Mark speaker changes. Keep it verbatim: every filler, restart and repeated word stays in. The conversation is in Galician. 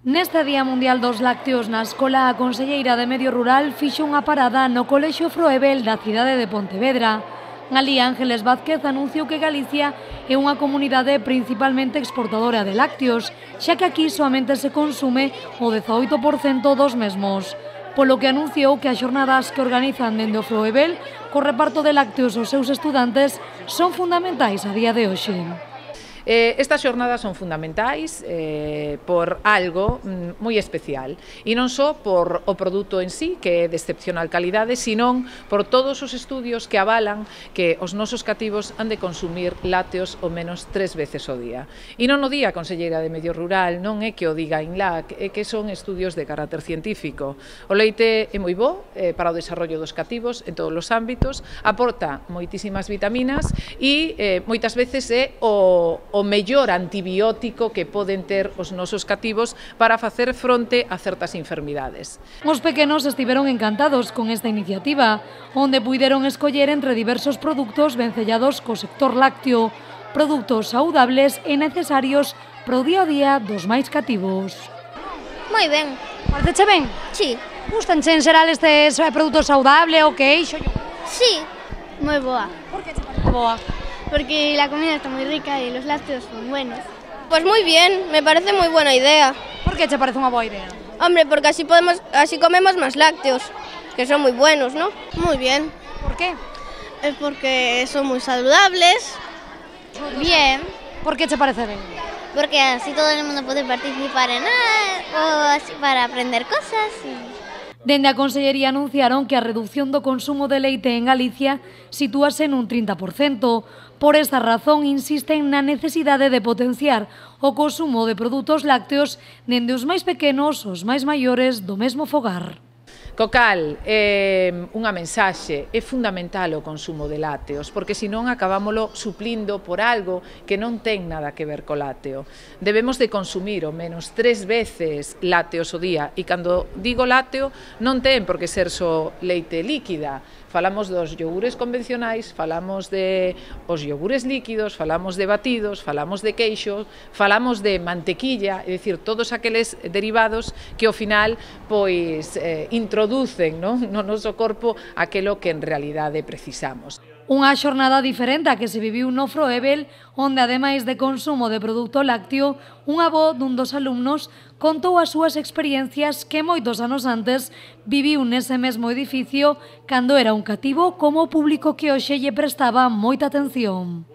Speaker 1: Neste Día Mundial dos Lácteos na escola, a conselleira de Medio Rural fixo unha parada no Colexio Froebel da cidade de Pontevedra. Alí, Ángeles Vázquez anunciou que Galicia é unha comunidade principalmente exportadora de lácteos, xa que aquí soamente se consume o dezaoito por cento dos mesmos. Polo que anunciou que as xornadas que organizan dende o Froebel co reparto de lácteos aos seus estudantes son fundamentais a día de hoxe.
Speaker 2: Eh, estas xornadas son fundamentais eh, por algo mm, moi especial, e non só por o produto en sí, que é de excepcional calidade, senón por todos os estudios que avalan que os nosos cativos han de consumir lácteos ao menos tres veces ao día. E non o diga a conselleira de Medio Rural, non é que o diga a INLAC, é que son estudios de carácter científico. O leite é moi bo eh, para o desarrollo dos cativos en todos os ámbitos, aporta moitísimas vitaminas e eh, moitas veces é o o mellor antibiótico que poden ter os nosos cativos para facer fronte a certas enfermidades.
Speaker 1: Os pequenos estiveron encantados con esta iniciativa, onde puideron escoller entre diversos produtos vencellados co sector lácteo, produtos saudables e necesarios pro día a día dos máis cativos.
Speaker 3: Moi ben.
Speaker 1: Pareceche ben?
Speaker 3: Sí.
Speaker 1: Gustanche en xeral estes produtos saudables, o queixo?
Speaker 3: Sí, moi boa.
Speaker 1: Por que che parece boa?
Speaker 3: Porque la comida está muy rica y los lácteos son buenos. Pues muy bien, me parece muy buena idea.
Speaker 1: Por que te parece unha boa idea?
Speaker 3: Hombre, porque así podemos, así comemos más lácteos, que son muy buenos, ¿no? Muy bien.
Speaker 1: ¿Por qué?
Speaker 3: Es porque son muy saludables. Bien.
Speaker 1: ¿Por qué te parece bien?
Speaker 3: Porque así todo el mundo puede participar en algo, así para aprender cosas. Y...
Speaker 1: Dende a Consellería anunciaron que a reducción do consumo de leite en Galicia sitúase nun trinta por cento. Por esta razón, insisten na necesidade de potenciar o consumo de produtos lácteos dende os máis pequenos aos máis maiores do mesmo fogar.
Speaker 2: Co cal, eh, unha mensaxe, é fundamental o consumo de lácteos, porque senón acabámolo suplindo por algo que non ten nada que ver co lácteo. Debemos de consumir ao menos tres veces lácteos ao día, e cando digo lácteo non ten por que ser só leite líquida. Falamos dos iogures convencionais, falamos de os iogures líquidos, falamos de batidos, falamos de queixo, falamos de mantequilla, é dicir, todos aqueles derivados que ao final pois eh, introducen, non, no noso corpo aquelo que en realidade precisamos.
Speaker 1: Unha xornada diferente a que se viviu no Froebel, onde ademais de consumo de produto lácteo, un avó dun dos alumnos contou as súas experiencias que moitos anos antes viviu nese mesmo edificio cando era un cativo como o público que hoxe lle prestaba moita atención.